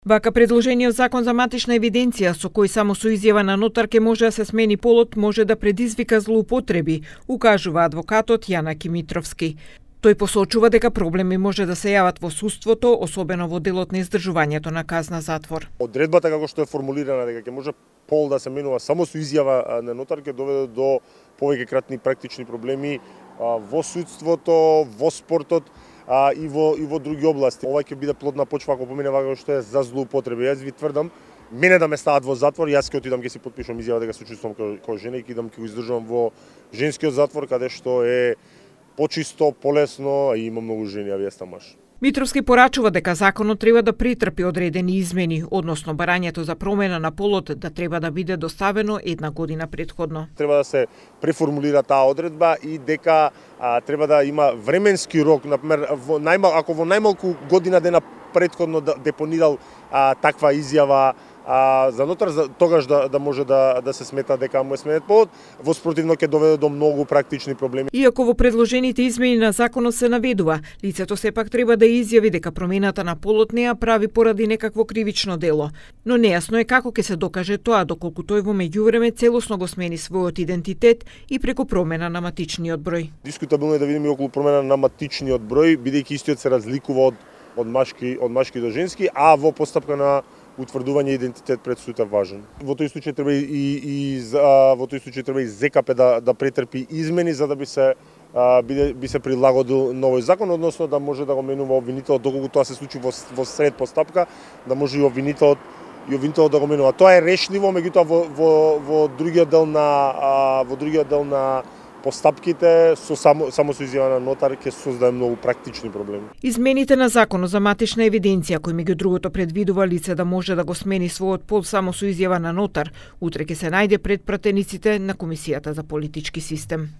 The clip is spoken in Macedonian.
Вака предложениот закон за матична евиденција, со кој само со изјава на нотар ке може да се смени полот, може да предизвика злоупотреби, укажува адвокатот Јанаки Митровски. Тој посочува дека проблеми може да се јават во судството, особено во делот на издржувањето на казна затвор. Одредбата како што е формулирана дека ќе може пол да се менува само со изјава на нотар ќе доведе до повеќе кратни практични проблеми во судството, во спортот и во други области. Ова ќе биде плодна почва ако помине вака што е за злоупотреби. Јас ви тврдам, мене да ме стават во затвор, јас ќе отидам ќе си потпишам изјава дека се чувствувам како жена и ќе идам ќе го издржувам во женскиот затвор каде што е почисто, полесно и има многу жени, а вие сте маж. Митровски порачува дека законот треба да претрпи одредени измени, односно барањето за промена на полот да треба да биде доставено една година претходно. Треба да се преформулира таа одредба и дека треба да има временски рок, например, ако во најмалку година дена претходно депонирал таква изјава за нотар, тогаш да може да се смета дека му е сменет полот, во спротивно ќе доведе до многу практични проблеми. Иако во предложените измени на законот се наведува, лицето сепак треба да изјави дека промената на полот не ја прави поради некакво кривично дело, но нејасно е како ќе се докаже тоа доколку тој во меѓувреме целосно го смени својот идентитет и преку промена на матичниот број. Дискутабилно е да видиме околу промена на матичниот број, бидејќи истиот се разликува од машки до женски, а во постапка на утврдување идентитет пред суд е важен. Во тој случај треба и ЗКП да претрпи измени за да би се прилагодил новој закон, односно да може да го менува обвинителот доколку тоа се случи во сред постапка, да може и обвинителот да го менува. Тоа е решливо, меѓутоа во другиот дел на постапките само со изјава на нотар ќе создае многу практични проблеми. Измените на законот за матична евиденција, кој меѓу другото предвидува лице да може да го смени својот пол само со изјава на нотар, утре ќе се најде пред пратениците на Комисијата за политички систем.